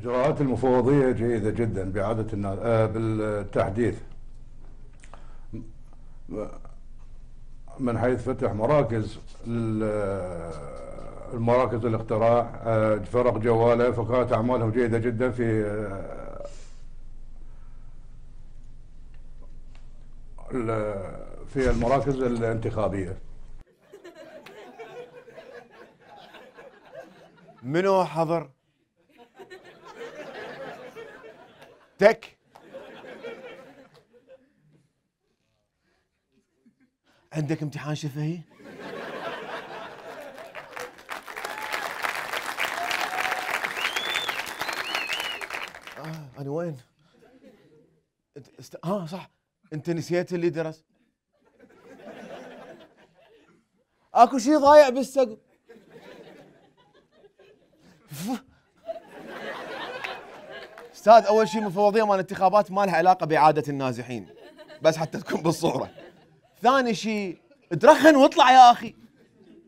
إجراءات المفوضية جيدة جدا بإعادة بالتحديث، من حيث فتح مراكز المراكز الاقتراع، فرق جوالة، فكانت أعمالهم جيدة جدا في المراكز الانتخابية. منو حضر؟ تك عندك امتحان شفهي؟ أنا وين؟ صح، أنت نسيت اللي درس. اكو شيء ضايع بالسقف. استاذ، اول شيء مفوضيه مال الانتخابات ما لها علاقه باعاده النازحين، بس حتى تكون بالصوره. ثاني شيء ترخن واطلع يا اخي.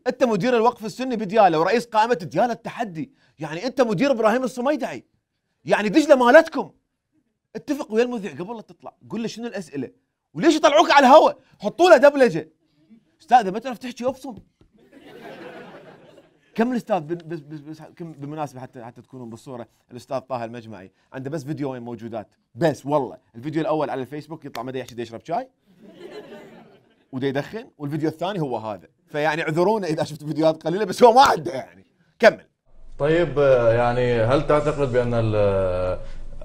انت مدير الوقف السني بدياله ورئيس قائمه دياله التحدي، يعني انت مدير ابراهيم الصميدعي، يعني دجله مالتكم. اتفق ويا المذيع قبل لا تطلع، قول له شنو الاسئله وليش يطلعوك على الهواء، حطوا له دبلجه. استاذ ما تعرف تحكي ابصم. كمل استاذ. بس بالمناسبه حتى تكونون بالصوره، الاستاذ طه المجمعي عنده بس فيديوين موجودات بس، والله الفيديو الاول على الفيسبوك يطلع مدى يحكي يشرب شاي ودا يدخن، والفيديو الثاني هو هذا، فيعني اعذرونا اذا شفت فيديوهات قليله بس هو ما عنده يعني. كمل. طيب يعني هل تعتقد بان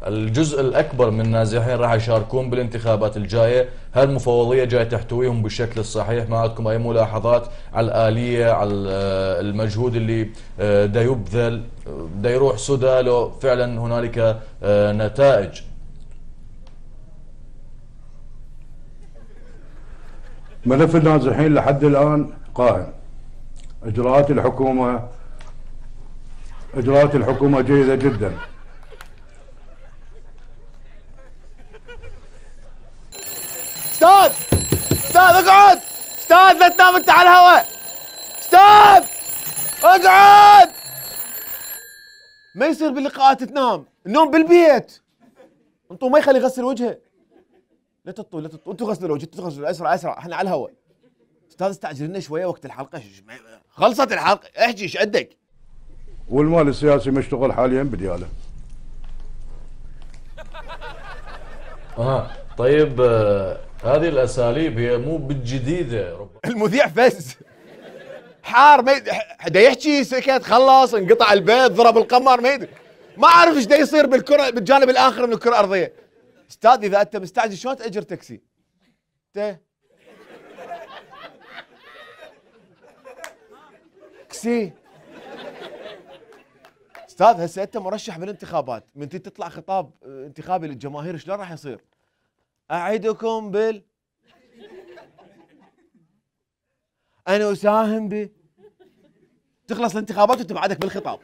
الجزء الاكبر من النازحين راح يشاركون بالانتخابات الجايه؟ هل المفوضيه جايه تحتويهم بالشكل الصحيح؟ ما عندكم اي ملاحظات على الاليه، على المجهود اللي دا يبذل، دا يروح سدى لو فعلا هنالك نتائج؟ ملف النازحين لحد الان قائم. اجراءات الحكومه جيده جدا. استاذ اقعد. استاذ لا تنام انت على الهواء. استاذ اقعد. ما يصير باللقاءات تنام، النوم بالبيت. انطوا ما يخلي يغسل وجهه. لا تطوا انتوا غسلوا الوجه، انتوا غسلوا اسرع احنا على الهواء. استاذ استعجل لنا شويه وقت الحلقه، خلصت الحلقه احكي ايش عندك؟ والمال السياسي مشتغل حاليا بدياله. طيب هذه الاساليب هي مو بالجديده. المذيع فز حار، دا يحكي سكت، خلص، انقطع البيت، ضرب القمر، ما يدري، ما اعرف ايش دا يصير بالكره بالجانب الاخر من الكره الارضيه. استاذ اذا انت مستعجل شلون تاجر تاكسي؟ تاكسي. استاذ هسه انت مرشح بالانتخابات، من تطلع خطاب انتخابي للجماهير شلون راح يصير؟ اعدكم انا اساهم تخلص الانتخابات وانت بعدك بالخطاب.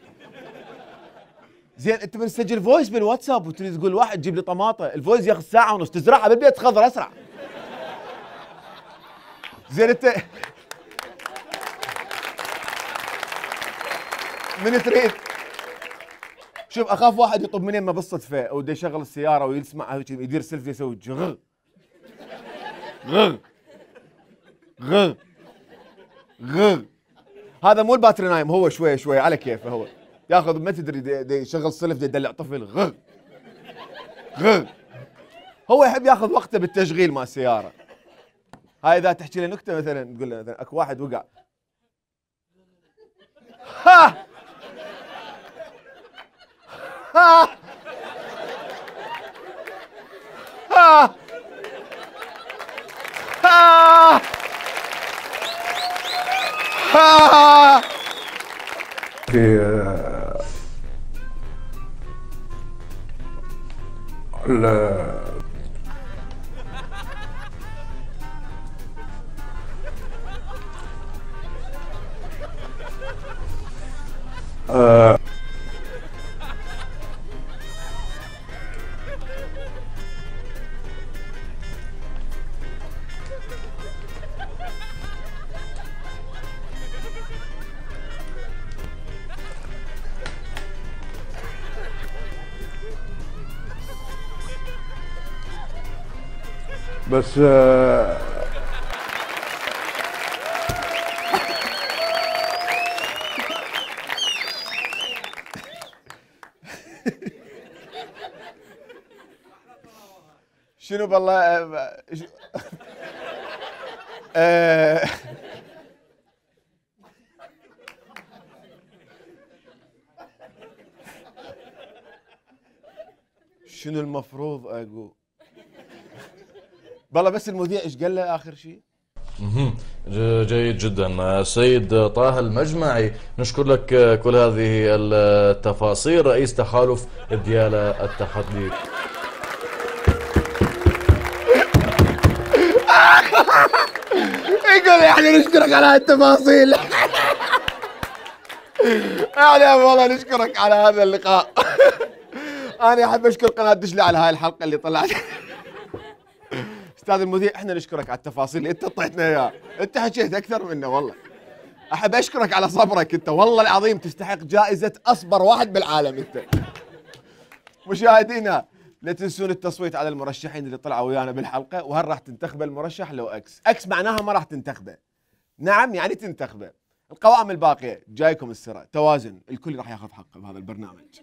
زين انت بنسجل فويس بالواتساب وتريد تقول واحد جيب لي طماطه، الفويس ياخذ ساعه ونص، تزرعها بالبيت خضر اسرع. زين انت من تريد؟ شوف اخاف واحد يطب من يمه بالصدفه او بده يشغل السياره ويسمع يدير سيلفي يسوي غ غ غ غ. هذا مو الباتري نايم، هو شويه شويه على كيفه، هو ياخذ ما تدري يشغل سلف يدلع طفل غ غ. هو يحب ياخذ وقته بالتشغيل مال السياره. هاي اذا تحكي له نكته مثلا تقول له مثلا اكو واحد وقع، ها ها ها ها ها. بس شنو بالله شنو المفروض اقول؟ بالله بس المذيع ايش قال له اخر شيء؟ جيد جدا سيد طه المجمعي، نشكر لك كل هذه التفاصيل، رئيس تحالف ديالى التحدي. يقول يعني نشكرك على هالتفاصيل. يعني والله نشكرك على هذا اللقاء. انا احب اشكر قناه دشلي على هاي الحلقه اللي طلعت. استاذ المذيع احنا نشكرك على التفاصيل اللي انت اعطيتنا اياها، انت حكيت اكثر منا والله. احب اشكرك على صبرك انت، والله العظيم تستحق جائزه اصبر واحد بالعالم انت. مشاهدينا لا تنسون التصويت على المرشحين اللي طلعوا ويانا بالحلقه، وهل راح تنتخبه المرشح لو اكس معناها ما راح تنتخبه، نعم يعني تنتخبه. القوائم الباقيه جايكم السرعه، توازن، الكل راح ياخذ حقه بهذا البرنامج.